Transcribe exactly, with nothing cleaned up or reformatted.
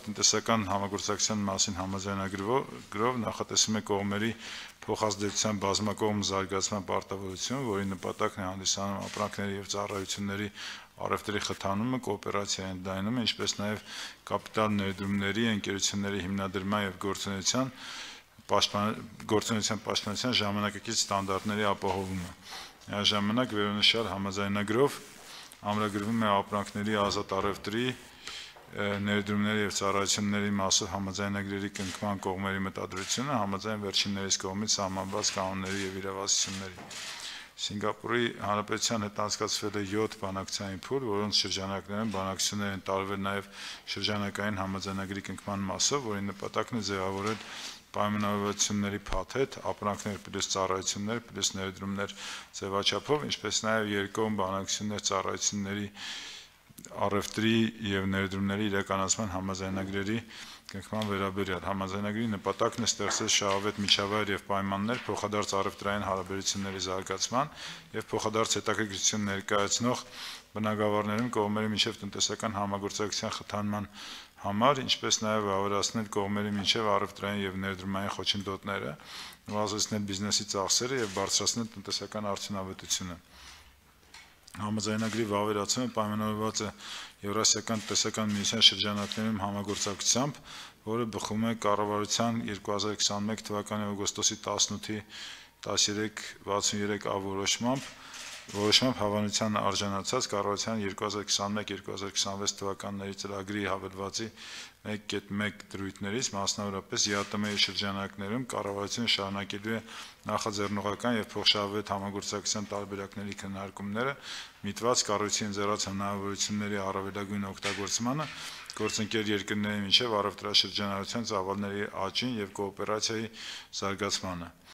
Տնտեսական համագործակցության մասին համաձայնագրով նախատեսում է կողմերի փոխազդեցության բազմակողմ զարգացման պարտավորություն, որի նպատակն է հանդիսանում ապրանքների և ծառայությունների առևտրի խթանումը, կոոպերացիայի ընդլայնումը, ինչպես նաև կապիտալ ներդրումների, ընկերությունների հիմնադրման և գործունեության գործունեության պաշտպանության ժամանակակից ստանդարտների ապահովումը։ Միաժամանակ վերոնշյալ համաձայնագրով ամրագրվում է ապրանքների ազատ առևտրի, ներդրումների և ծառայությունների մասով համաձայնագրերի կնքման կողմերի մտադրությունը համաձայն վերջիններիս կողմից սահմանված կանոնների և իրավասությունների։ Սինգապուրի Հանրապետության հետ անցկացվել է յոթ բանակցային փուլ, որոնց շրջանակներում բանակցություններ են տարվել նաև շրջանակային համաձայնագրի կնքման մասով, որի նպատակն է ձևավորել պայմանավորվածությունների փաթեթ՝ ապրանքներ պլյուս ծառայություններ պլյուս ներդրումներ ձևաչափով, ինչպես նաև երկկողմ բանակցություններ ծառայությունների առևտրի և ներդրումների իրականացման համաձայնագրերի կնքման վերաբերյալ։ Համաձայնագրի նպատակն է ստեղծել շահավետ միջավայր և պայմաններ փոխադարձ առևտրային հարաբերությունների զարգացման և փոխադարձ հետաքրքրություն ներկայացնող բնագավառներում կողմերի միջև տնտեսական համագործակցության խթանման համար, ինչպես նաև վավերացնել կողմերի միջև առևտրային և ներդրումային խոչընդոտները, նվազեցնել բիզնեսի ծախսերը և բարձրացնել տնտեսական արդյունավետությունը։ Համաձայնագրի վավերացումը պայմանավորված է Եվրասիական տնտեսական միության շրջանակներում համագործակցությամբ, որը բխում է կառավարության երկու հազար քսաներկու թվականի օգոստոսի տասնութի տասներեք վաթսուներեք ա որոշմամբ հավանության արժանացած կառավարության երկու հազար քսաներեք երկու հազար քսանվեց թվականների ծրագրի հավելվածի մեկ կետ մեկ դրույթներից, մասնավորապես ԵԱՏՄ-ի շրջանակներում կառավարությունը շարունակելու է նախաձեռնողական և փոխշահավետ համագործակցության տարբերակների քննարկումները՝ միտված կառույցի ընձեռած հնարավորությունների առավելագույն օգտագործմանը, գործընկեր երկրների միջև առևտրաշրջանառության ծավալների աճին և կոոպերացիայի զարգացմանը։